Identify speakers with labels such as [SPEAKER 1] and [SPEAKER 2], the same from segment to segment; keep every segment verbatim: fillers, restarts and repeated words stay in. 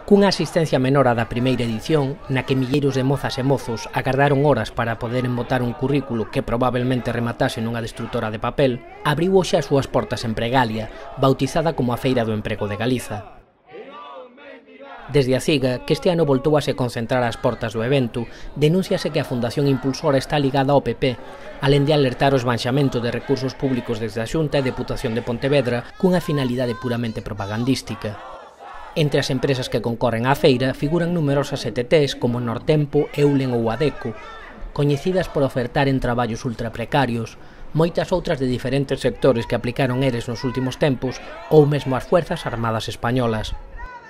[SPEAKER 1] Cunha asistencia menor á da primeira edición, na que milleiros de mozas e mozos agardaron horas para poderen botar un currículo que probablemente rematase nunha destrutora de papel, abriu hoxe as súas portas en Pregalia, bautizada como a Feira do Emprego de Galiza. Desde a CIGA, que este ano voltou a se concentrar ás portas do evento, denúnciase que a Fundación Impulsora está ligada ao P P, alén de alertar o esbanxamento de recursos públicos desde a Xunta e Deputación de Pontevedra cunha finalidade puramente propagandística. Entre as empresas que concorren á feira figuran numerosas E T Ts como Nortempo, Eulen ou Adeco, coñecidas por ofertar en traballos ultraprecarios, moitas outras de diferentes sectores que aplicaron eres nos últimos tempos ou mesmo as Fuerzas Armadas Españolas.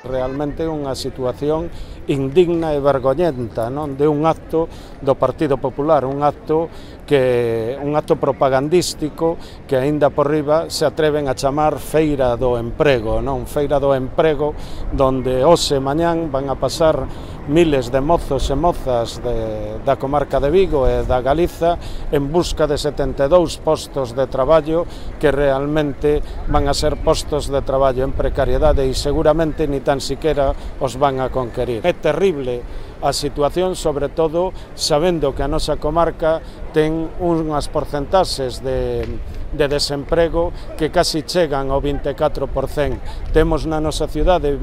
[SPEAKER 2] Realmente unha situación indigna e vergoñenta, non, de un acto do Partido Popular, un acto que un acto propagandístico que aínda por riba se atreven a chamar Feira do Emprego, non, Feira do Emprego, donde hoxe e mañán van a pasar miles de mozos e mozas de, da comarca de Vigo e da Galiza en busca de setenta e dous postos de traballo que realmente van a ser postos de traballo en precariedade e seguramente ni tan siquiera os van a conquerir. É terrible a situación, sobre todo sabendo que a nosa comarca ten unhas porcentaxes de, de desemprego que casi chegan ao vinte e catro por cento. Temos na nosa cidade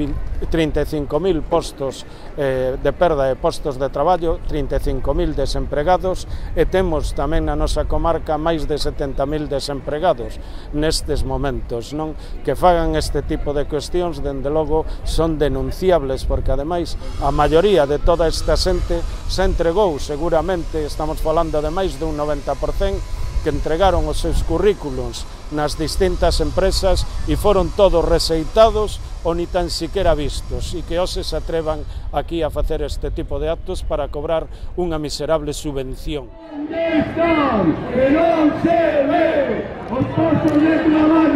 [SPEAKER 2] trinta e cinco mil postos eh, de perda de postos de traballo, trinta e cinco mil desempregados e temos tamén na nosa comarca máis de setenta mil desempregados nestes momentos, non? Que fagan este tipo de cuestións, dende logo, son denunciables porque ademais a maioría de toda esta xente se entregou, seguramente estamos falando de máis dun noventa por cento que entregaron os seus currículos nas distintas empresas e foron todos rexeitados ou ni tan siquiera vistos e que hoxe se atrevan aquí a facer este tipo de actos para cobrar unha miserable subvención.
[SPEAKER 3] Que non se ve os postos de traballo